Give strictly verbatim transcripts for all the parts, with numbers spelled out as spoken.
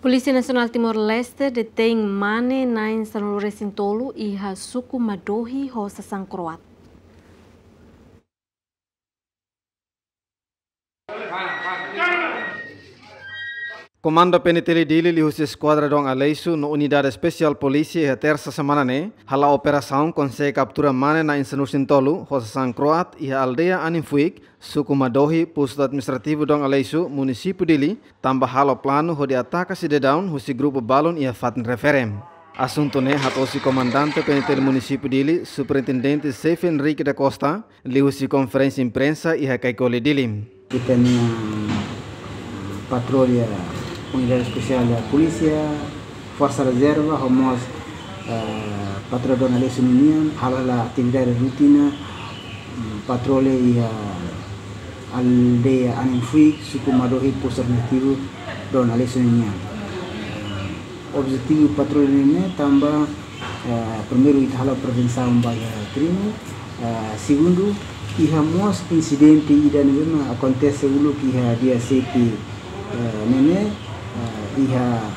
Polísia Nasionál Timor-Leste detein mane na'in sanulu-resin-tolu iha suku Madohi ho sasán kro'at. Komandu P N T L Dili liuhusi Eskuadra Dom Aleixo no Unidade Espesiál Polísia iha tersa semana ne'e hala'o operasaun, konsege kaptura mane na'in sanulu-resin-tolu ho sasán kro'at iha aldeia Aninfuik, suku Madohi, postu administrativu Dom Aleixo, munisípiu Dili, tanba halo planu hodi ataka sidadaun husi grupu balun iha fatin refere. Asuntu ne'e hato'o husi Komandante P N T L Munisípiu Dili, Superintendente Seif Henrique da Costa, liuhusi konferénsia imprensa iha Kaikoli, Dili. Ita-nia patrulla Unidade Espesiál Polísia, Forsa Rezerva, ho mós, eh, patrulla Dom Aleixo nian, hala'o atividade rotina, mm, patrulla iha aldeia Aninfuik, suku Madohi, postu administrativu Dom Aleixo nian. Objetivu patrulla ne'e tanba, eh, primeiru, ita halo prevensaun ba iha krime. Eh, segundu, iha mós insidente ida ne'ebé mak akontese uluk iha dia sete, eh, ne'e, eh, iha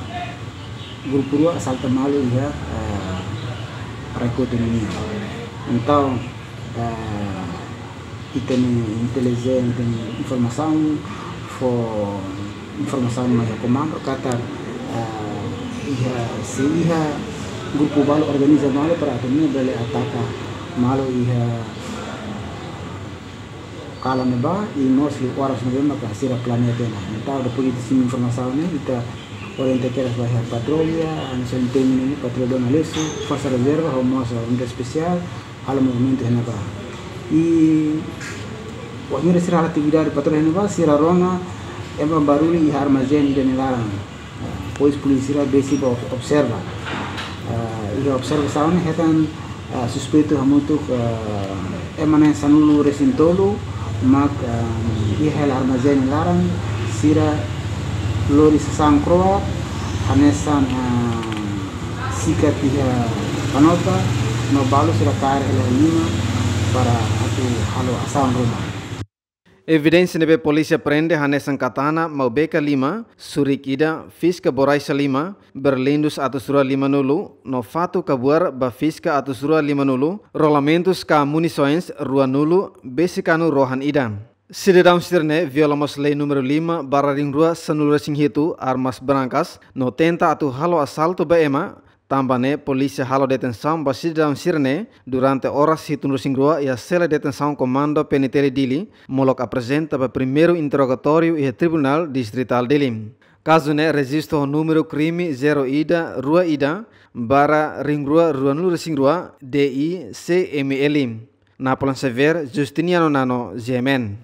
grupu rua asalta malu iha, eh, Raikote nian. Entaun, eh, ita-nia intelijénsia, ita-nia informasaun, fó informasaun mai iha komandu katak, eh, iha, sei iha grupu balu organiza malu para atu nune'e bele ataka malu iha kalan ne'ebá, i mós iha oras ne'ebé mak sira planeia tiha ona. Entaun, depois de simu informasaun ne'e, ita orienta kedas ba iha patrulla, hanesan temi ne'e, patrulla Dom Aleixo, Forsa Rezerva, ho mós Unidade Espesiál, halo movimentu iha ne'ebá. I wainhira sira halo atividade patrulla iha ne'ebá, sira rona ema barullu iha armazén ida nia laran. Depois polísia sira besik ba ob-, observa. Ah, iha observasaun ne'e hetan, ah, suspeitu hamutuk, ah, ema na'in sanulu-resin-tolu mak, ah, iha hela armazén nia laran, sira lori sasán kro'at, hanesan, ah, sikat iha kanota, no balu sira kaer hela iha lima para atu halo asaun ruma. Evidénsia ne'ebé polísia prende hanesan katana, maubeka lima, surik ida, fiska borraxa lima, berlindus atus rua limanulu, no fatuk kabuar ba fiska atus rua limanulu, rolamentus ka munisoens ruanulu, besik kanu rohan ida. Sidadaun sira-ne'e viola mós lei númeru lima barra rihun rua sanulu-resin-hitu, armas brankas, no tenta atu halo asaltu ba ema. Tanba ne'e, polísia halo detensaun ba sidadaun sira-ne'e durante oras hitunulu-resin-rua iha sela detensaun Komandu P N T L Dili, molok aprezenta ba primeiru interrogatóriu iha Tribunál Distritál Dili. Kazu ne'e rejistu ho númeru krime zero ida rua ida barra rihun rua ruanulu-resin-rua D I C M L. Napoleon Xavier, Justiniano Nano, G M N.